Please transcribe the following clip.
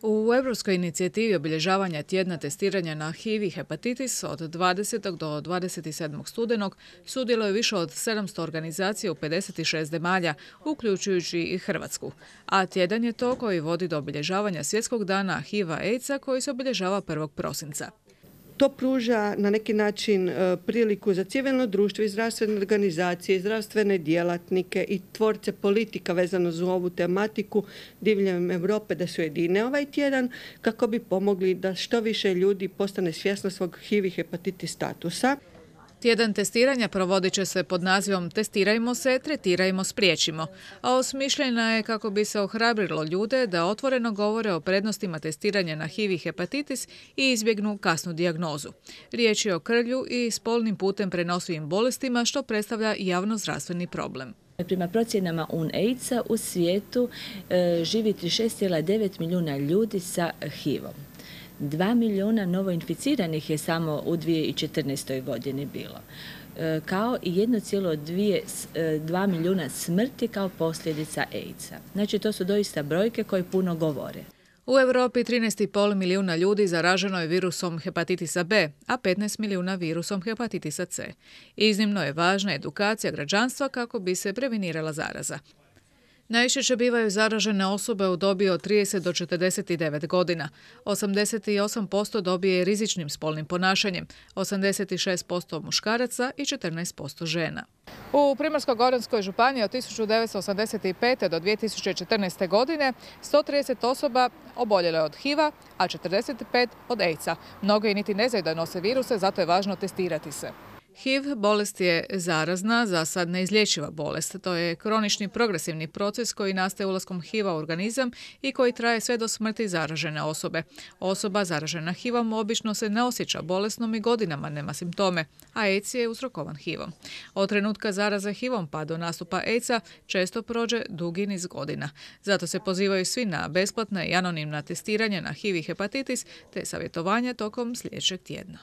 U Europskoj inicijativi obilježavanja tjedna testiranja na HIV i hepatitis od 20. do 27. studenog sudjeluje više od 700 organizacija u 56 zemalja, uključujući i Hrvatsku. A tjedan je to koji vodi do obilježavanja Svjetskog dana HIV-a AIDS-a koji se obilježava 1. prosinca. To pruža na neki način priliku za civilno društvo i zdravstvene organizacije, i zdravstvene djelatnike i tvorce politika vezano za ovu tematiku diljem Europe da se ujedine ovaj tjedan kako bi pomogli da što više ljudi postane svjesno svog HIV i hepatitis statusa. Tjedan testiranja provodit će se pod nazivom Testirajmo se, tretirajmo, spriječimo, a osmišljena je kako bi se ohrabrilo ljude da otvoreno govore o prednostima testiranja na HIV i hepatitis i izbjegnu kasnu dijagnozu. Riječ je o krvlju i spolnim putem prenosivim bolestima što predstavlja javnozdravstveni problem. Prema procjenama UNAIDS-a u svijetu živi 36,9 milijuna ljudi sa HIV-om. 2 milijuna novoinficiranih je samo u 2014. godini bilo, kao i 1,2 milijuna smrti kao posljedica AIDS-a. Znači, to su doista brojke koje puno govore. U Europi 13,5 milijuna ljudi zaraženo je virusom hepatitisa B, a 15 milijuna virusom hepatitisa C. Iznimno je važna edukacija građanstva kako bi se prevenirala zaraza. Najčešće bivaju zaražene osobe u dobi od 30 do 49 godina. 88% dobije rizičnim spolnim ponašanjem, 86% muškaraca i 14% žena. U Primorsko-goranskoj županiji od 1985. do 2014. godine 130 osoba oboljelo je od HIV-a, a 45 od AIDS-a. Mnogi niti ne znaju da nose viruse, zato je važno testirati se. HIV bolest je zarazna, za sad neizlječiva bolest. To je kronični progresivni proces koji nastaje ulaskom HIV-a u organizam i koji traje sve do smrti zaražene osobe. Osoba zaražena HIV-om obično se ne osjeća bolesnom i godinama nema simptome, a AIDS je uzrokovan HIV-om. Od trenutka zaraze HIV-om pa do nastupa AIDS-a često prođe dugi niz godina. Zato se pozivaju svi na besplatna i anonimna testiranja na HIV i hepatitis te savjetovanja tokom sljedećeg tjedna.